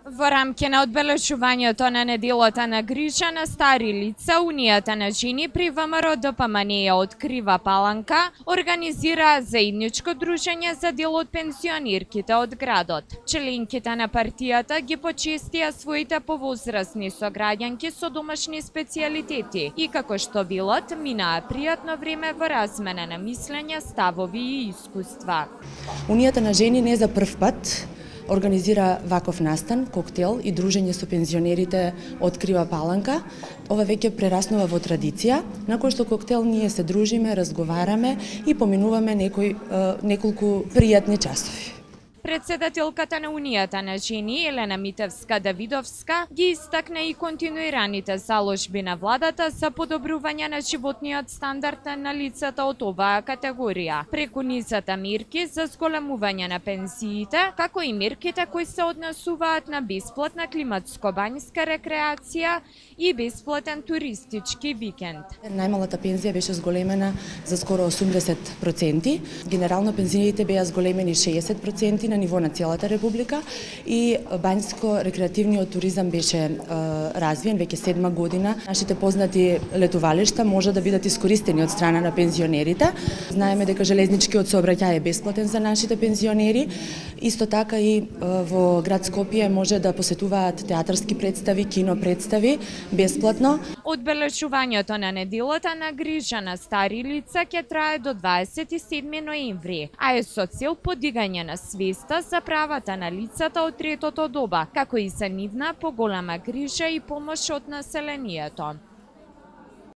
Во рамки на одбележувањето на неделата на грижа на стари лица, Унијата на жени при ВМРО ДПМН од Крива Паланка организира заедничко дружење за дел од пензионерките од градот. Членките на партијата ги почестија своите повозрасни сограѓанки со домашни специјалитети и како што билот минаа пријатно време во размена на мислења, ставови и искуства. Унијата на жени не за прв пат организира ваков настан, коктел и дружење со пензионерите од Крива Паланка. Ова веќе прераснува во традиција, на кој што коктел ние се дружиме, разговараме и поминуваме неколку пријатни часови. Председателката на Унијата на жени Елена Митевска-Давидовска ги истакна и континуираните заложби на владата за подобрување на животниот стандард на лицата од оваа категорија, преку низата мерки за зголемување на пензиите, како и мерките кои се однесуваат на бесплатна климатско-банјска рекреација и бесплатен туристички викенд. Најмалата пензија беше зголемена за скоро 80%, генерално пензиите беа зголемени 60% на ниво на целата република и банјско-рекреативниот туризам беше развиен веќе 7 година. Нашите познати летувалишта може да бидат искористени од страна на пензионерите. Знаеме дека железничкиот сообраќај е бесплатен за нашите пензионери. Исто така и во град Скопје може да посетуваат театарски представи, кино представи бесплатно. Одбележувањето на неделата на грижа на стари лица ќе трае до 27 ноември, а е со цел подигање на свеста за правата на лицата од третото доба, како и за нивна поголема грижа и помош од населението.